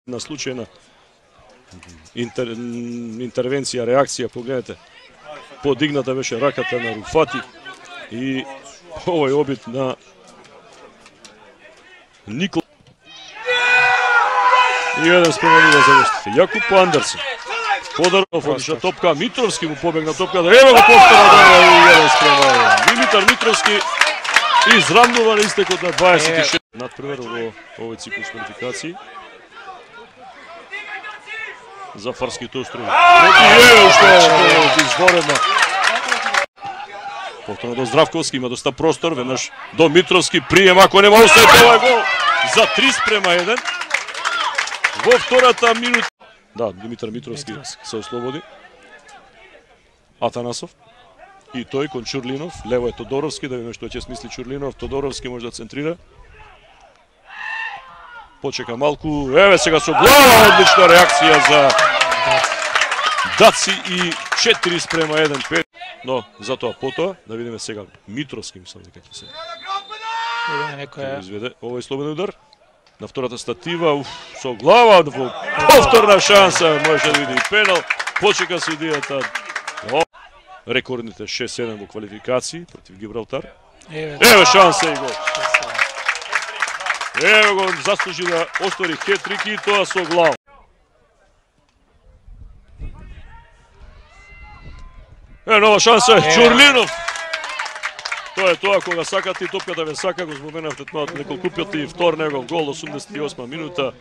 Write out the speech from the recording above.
На случајна интервенција, реакција, погледнете. Подигната беше раката на Руфати и овој обид на Никол. И еден спременува за гостите. Јакуп Андерсен. Подаров одиша топка, Митровски му побегна топката. Ево го повтора и еден спрема. Димитар Митровски изравнува на истекот на 26. Надпревар во овој циклус квалификации. За Фарските острови. Ево што е изворена. Повторно до Здравковски, има доста простор, веднаш до Митровски, прием, ако нема осет, ова гол за 3:1. Во втората минута. Да, Димитар Митровски се ослободи. Атанасов. И тој кон Чурлинов, лево е Тодоровски, да видиме што ќе смисли Чурлинов. Тодоровски може да центрира. Почека малку, еве сега со глава, одлична реакција за Даци и 4:1. Но затоа потоа, да видиме сега Митровски, мислам дека ќе се изведе овој слободен удар. На втората статива, со глава, повторна шанса, може да види и пенал. Почека судијата. Рекордните 6-7 во квалификации против Гибралтар. Ево шанса и гол. Ево го заслужи да оствари хет-трик и тоа со глава. Нова шанса, Чурлинов. Тоа е тоа, кога сакате и топката ве сака, го споменавте тоа неколку пати, втор негов гол, 88 минута.